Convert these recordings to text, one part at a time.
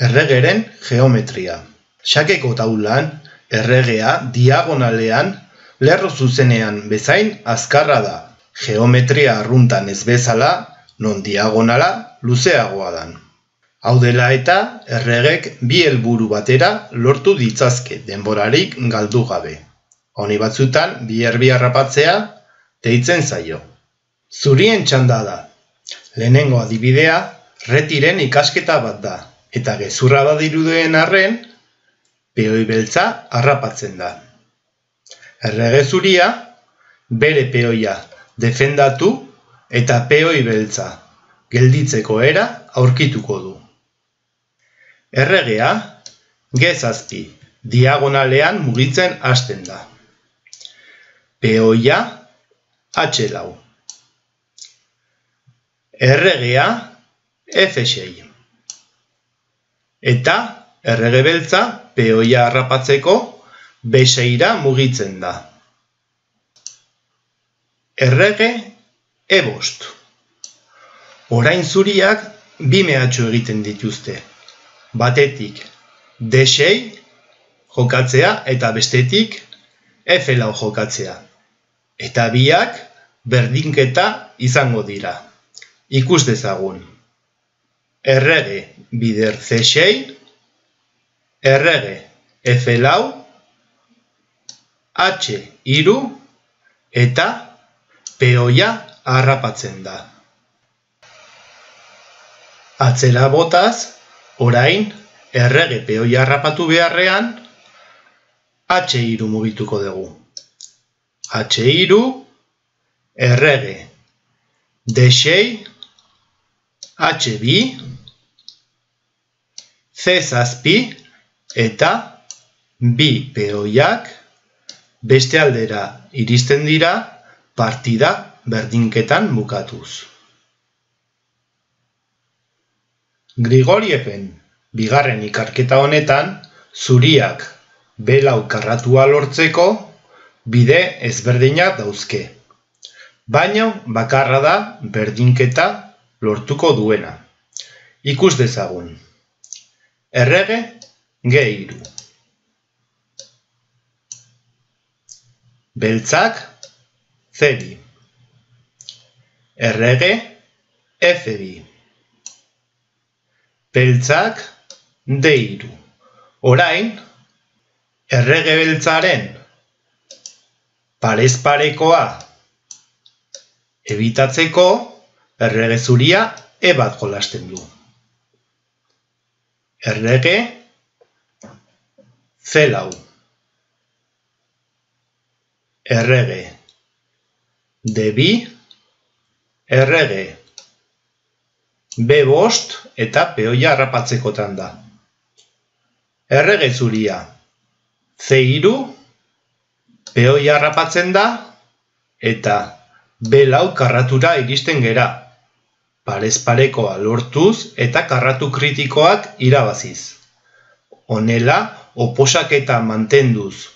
Erregeren geometria. Xakeko taulan, erregea diagonalean, lerro zuzenean bezain azkarra da. Geometria arruntan ez bezala, non diagonala luzeagoa dan. Hau dela eta, erregek bi helburu batera lortu ditzazke denborarik galdu gabe. Honi batzutan, bi erbi harrapatzea deitzen zaio. Zurien txanda da. Lehenengo adibidea, retiren ikasketa bat da, eta gezurra badirudien arren, peoi beltza harrapatzen da. Errege zuria, bere peoia defendatu eta peoi beltza gelditzeko era aurkituko du. Erregea, gezazpi, diagonalean mugitzen hasten da. Peoia, H4. Erregea, F6. Eta errege beltza peoia harrapatzeko B6ra mugitzen da. Errege E5. Orain zuriak bi mehatxu egiten dituzte. Batetik D6 jokatzea eta bestetik F4 jokatzea. Eta biak berdinketa izango dira. Ikus dezagun. Errege bider C6, errege F4, H3 eta peoia harrapatzen da. Atzera botaz, orain errege peoia harrapatu beharrean, H3 mugituko dugu. H3, errege D6, H2, C7 eta bi peoiak beste aldera iristen dira partida berdinketan bukatuz. Grigorieven bigarren ikerketa honetan zuriak B4 karratua lortzeko bide ezberdinak dauzke. Baina bakarra da berdinketa lortuko duena. Ikus dezagun. Errege G3. Beltzak C2. Errege F2. Beltzak D3. Orain, errege beltzaren parez parekoa ebitatzeko errege zuria E1 jolasten du. Errege C4. Errege D2, errege B5 eta peoia harrapatzekotan da. Errege zuria C3, peoia harrapatzen da eta B4 karratura iristen gera. Parez parekoa lortuz eta karratu kritikoak irabaziz. Honela, oposaketa mantenduz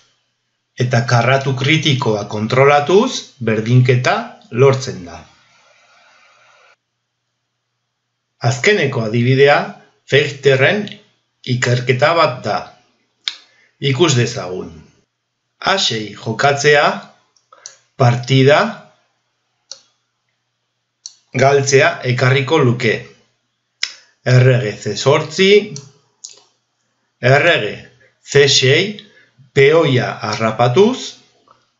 eta karratu kritikoa kontrolatuz, berdinketa lortzen da. Azkeneko adibidea, Fechterren ikerketa bat da. Ikus dezagun. H6 jokatzea, partida galtzea ekarriko luke. Errege C8, errege C6, peoia harrapatuz,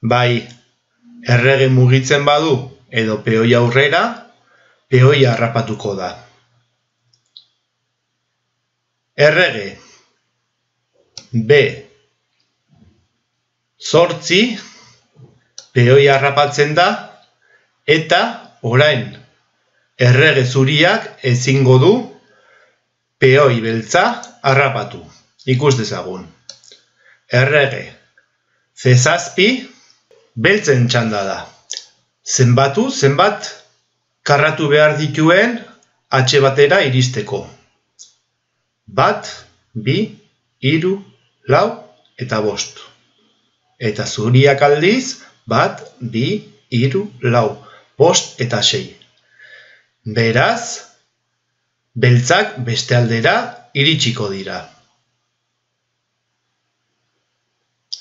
bai errege mugitzen badu edo peoia aurrera, peoia harrapatuko da. Errege B8, peoia harrapatzen da, eta orain errege zuriak ezingo du peoi beltza harrapatu. Ikus dezagun. Errege C7 beltzen txanda da. Zenbat karratu behar dituen H batera iristeko. 1, 2, 3, 4 eta 5. Eta zuriak aldiz 1, 2, 3, 4, 5 eta 6. Beraz, beltzak beste aldera iritsiko dira.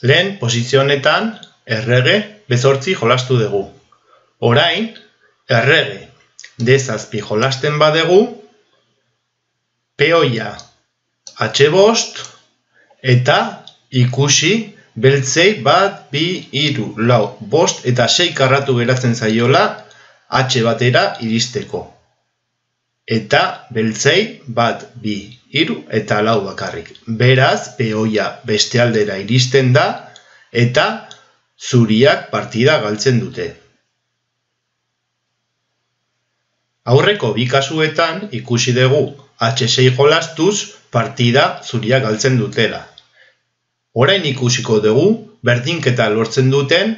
Lehen posizionetan errege B8 jolastu dugu. Orain, errege D7 jolasten badegu, peoia H5 eta ikusi beltzei 1, 2, 3, 4, 5 eta 6 karratu geratzen zaiola H batera iristeko. Eta beltzei 1, 2, 3 eta 4 bakarrik. Beraz, peoia beste aldera iristen da eta zuriak partida galtzen dute. Aurreko bi kasuetan ikusi dugu H6 jolastuz partida zuriak galtzen dutela. Orain ikusiko dugu berdinketa lortzen duten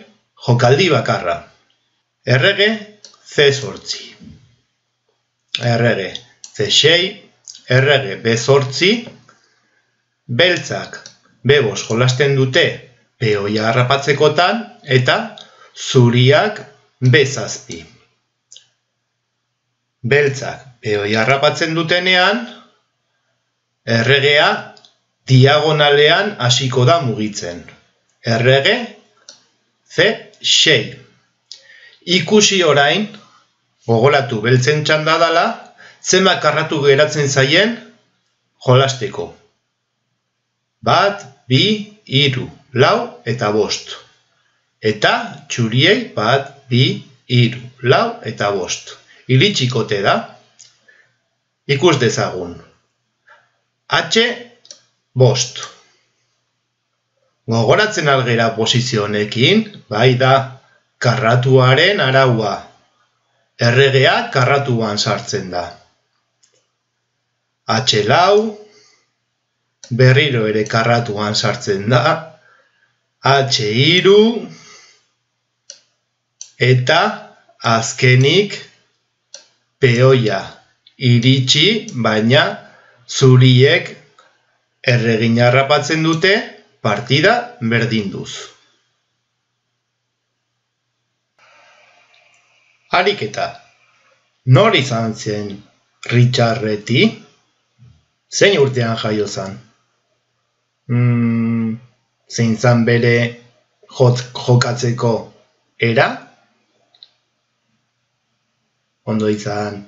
jokaldi bakarra. Errege C8, errege C6, errege B8, beltzak B5 jolasten dute peoia harrapatzekotan eta zuriak B7. Beltzak peoia harrapatzen dutenean, erregea diagonalean hasiko da mugitzen. Errege C6. Ikusi orain, gogoratu beltzen txanda dala, zenbat karratu geratzen zaien jolasteko. 1, 2, 3, 4 eta 5. Eta txuriei 1, 2, 3, 4 eta 5. Iritsikote da. Ikus dezagun. H5. Gogoratzen algera posizionekin, bai da, karratuaren araua. Erregea karratuan sartzen da. H4, berriro ere karratuan sartzen da. H3, eta azkenik peoia iritsi, baina zuriek erregina harrapatzen dute partida berdinduz. Ariketa. Nor izan zen Richard Reti? Zein urtean jaio zen? Zein zan bere jokatzeko era? Ondo izan.